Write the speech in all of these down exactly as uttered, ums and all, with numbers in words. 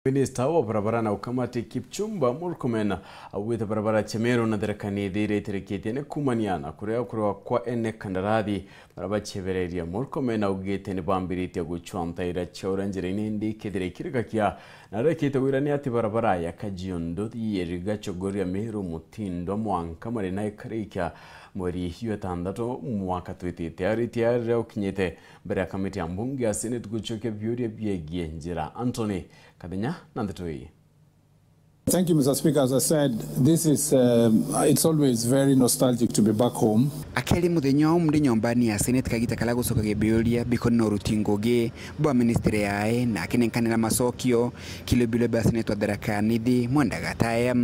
Minista wa barabara na ukamati Kipchumba Murkomen augite barabara cia Meru na Tharaka Nithi iria itirikitie ni kumania na kuria kurwa kwa ene kandarathi baria baciebereria. Murkomen augite ni bambiritie gucwa ntaira cia uria njira-ini indi ikethira ikirikakia na arekite wirania ati barabara ya Kajiado Nduthi, Iriga, Chogoria, Meru, Mutindwa mwanka mari na ikarikia mweri jwa itantatu mwaka twitite. Aritie aria ukinyite mbere ya kamiti ya mbunge ya Senate gucokia biuria biegie njira. Anthony Kathenya na ndeto ii. Thank you, Mister Speaker. As I said, this is, um, it's always very nostalgic to be back home. Akeri muthenya wa umri nyombani ya Senate kagita kala gucokagia biuria bikoni na uruti ngugi bwa ministry yae na akinenkanira macokio kiri biro bia Senate wa Tharaka Nithi Mwenda Gataya.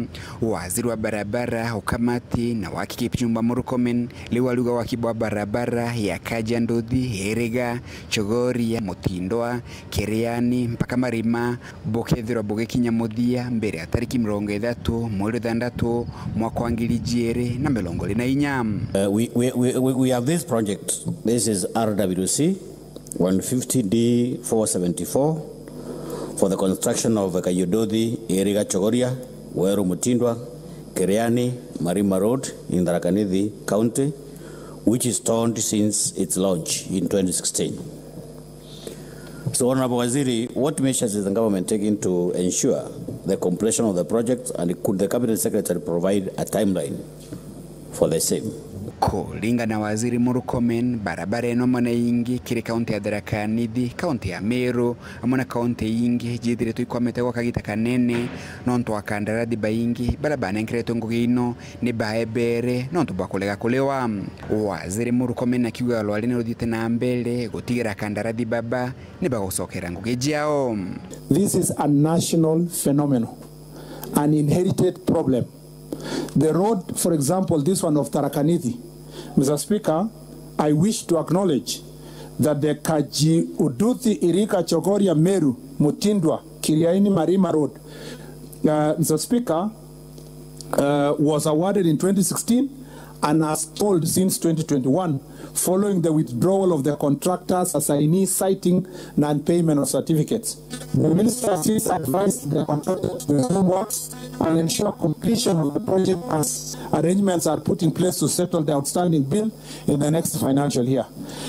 Waziri wa barabara, ukamati na waki Kipchumba Murkomen riu ariuga waki bwa barabara ya Kajiado Nduthi, Iriga, Chogoria, Mutindwa, Kiriani mpaka Marima bukethirwa bugikinya muthia mbere ya tariki mirongo ithatu mweri wa ithanthatu mwaka wa ngiri ijiiri na mirongo iiri na inya. Uh, we, we, we, we we have this project. This is R W C one fifty D four seventy-four for the construction of Kajiado Nduthi, Iriga, Chogoria, Weru, Mutindwa, Kiriani, Marima Road in Tharaka Nithi County, which is stalled since its launch in twenty sixteen. So, Honorable Waziri, what measures is the government taking to ensure the completion of the project, and could the Cabinet Secretary provide a timeline for the same? Kuringana na Waziri Murkomen, barabara ino amwe na ingi kiri kaunti ya Tharaka Nithi, kaunti ya Meru, amwe na kaunti ingi jithiritwe ikwamite gwa kagita kanene nontu wa kandarathi baingi baria banenkeretwe ngugi ino ni baebere nontu bwa kurega kuriwa. Waziri Murkomen akiuga rwari ni ruthiite na mbere gutigira kandarathi baba ni bagucokera ngugi ciao. This is a national phenomenon, an inherited problem. The road, for example, this one of Tharaka Nithi, Mister Speaker, I wish to acknowledge that the Kajiado Nduthi, Iriga, Chogoria, Meru, Mutindwa, Kiriani, Marima Road, uh, Mister Speaker, uh, was awarded in twenty sixteen and has stalled since twenty twenty-one following the withdrawal of the contractor's assignee citing non-payment of certificates. The minister since advised the contractor to resume works and ensure completion of the project as arrangements are put in place to settle the outstanding bill in the next financial year.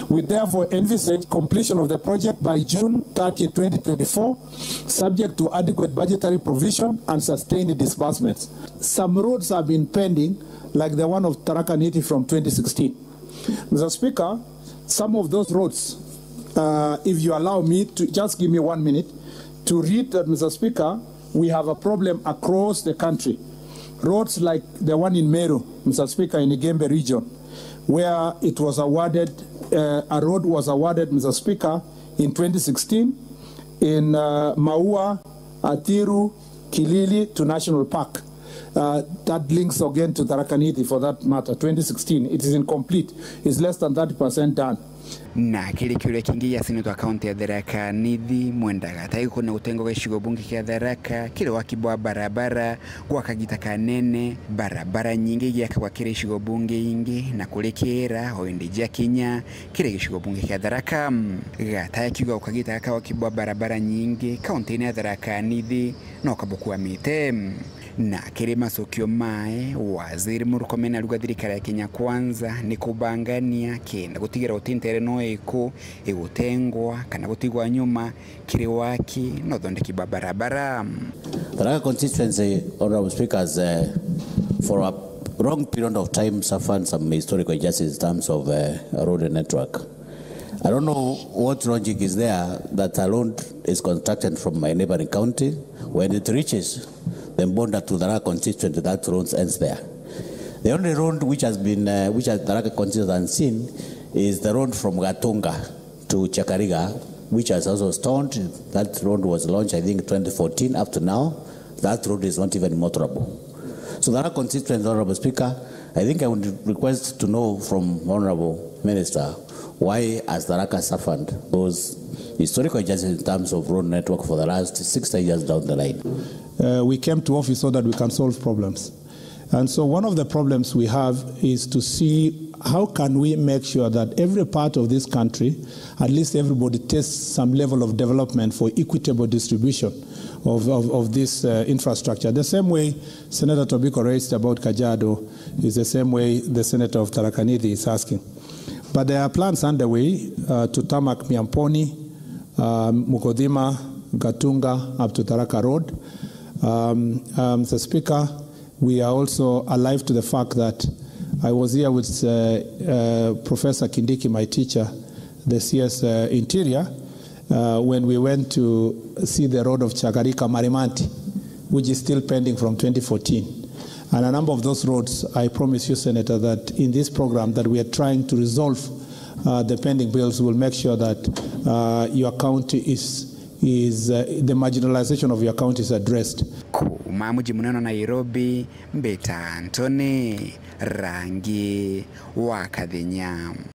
We therefore envisage completion of the project by June thirtieth, twenty twenty-four, subject to adequate budgetary provision and sustained disbursements. Some roads have been pending, like the one of Tharaka Nithi from twenty sixteen. Mister Speaker, some of those roads, uh, if you allow me to, just give me one minute to read that, Mister Speaker, we have a problem across the country. Roads like the one in Meru, Mister Speaker, in Igembe region, where it was awarded, uh, a road was awarded, Mister Speaker, in twenty sixteen in, uh, Maua, Athiru, Kilili to National Park. Uh, that links again to Tharaka Nithi for that matter, twenty sixteen. It is incomplete. It's less than thirty percent done. Na kiri kiuria kingi gia seneta wa kaunti ya Tharaka Nithi Mwenda Gatagi kuria gutenga gicigo bunge kia Tharaka kiri waki bwa barabara gwa kagita kanene, barabara nyingi igiakagwa kiri icigo bunge ingi na kurikira o indi ciakinya kiri gicigo bunge kia Tharaka. Gataya akiuga ukagita gaka waki bwa barabara nyingi kaunti-ini ya Tharaka Nithi no kabukwamite. Na kiri macokio mae, Waziri Murkomen arauga thirikari ya Kenya Kwanza ni kubangania kenda gutigira guti ntere no iku igutengwa kana gutigwa nyuma kiri waki na uthondeki bwa barabara. Tharaka constituency, Honorable Speaker, has, uh, for a long period of time suffered some historical injustice in terms of, uh, road network. I don't know what logic is there that a road is constructed from my neighboring county. When it reaches the border to Tharaka constituency, that road ends there. The only road which has been, uh, which has Tharaka constituency has seen is the road from Gatunga to Chakariga, which has also stalled. That road was launched, I think, twenty fourteen. Up to now, that road is not even motorable. So Tharaka constituency, Honorable Speaker, I think I would request to know from Honorable Minister, why has Tharaka suffered those historical injustices in terms of road network for the last sixty years down the line? Uh, we came to office so that we can solve problems. And so one of the problems we have is to see how can we make sure that every part of this country, at least everybody tastes some level of development for equitable distribution of, of, of this uh, infrastructure. The same way Senator Tobiko raised about Kajiado is the same way the Senator of Tharaka Nithi is asking. But there are plans underway uh, to tarmac Miamponi, uh, Mukothima, Gatunga, up to Tharaka Road. Um, um, Mister Speaker, we are also alive to the fact that I was here with uh, uh, Professor Kindiki, my teacher, the C S uh, Interior, uh, when we went to see the road of Chagarika Marimanti, which is still pending from twenty fourteen. And a number of those roads, I promise you, Senator, that in this program that we are trying to resolve uh, the pending bills, will make sure that uh, your county is, is uh, the marginalization of your county is addressed. Kuuma muji munene wa Nairobi, mbita Anthony Rangi wa Kathenya.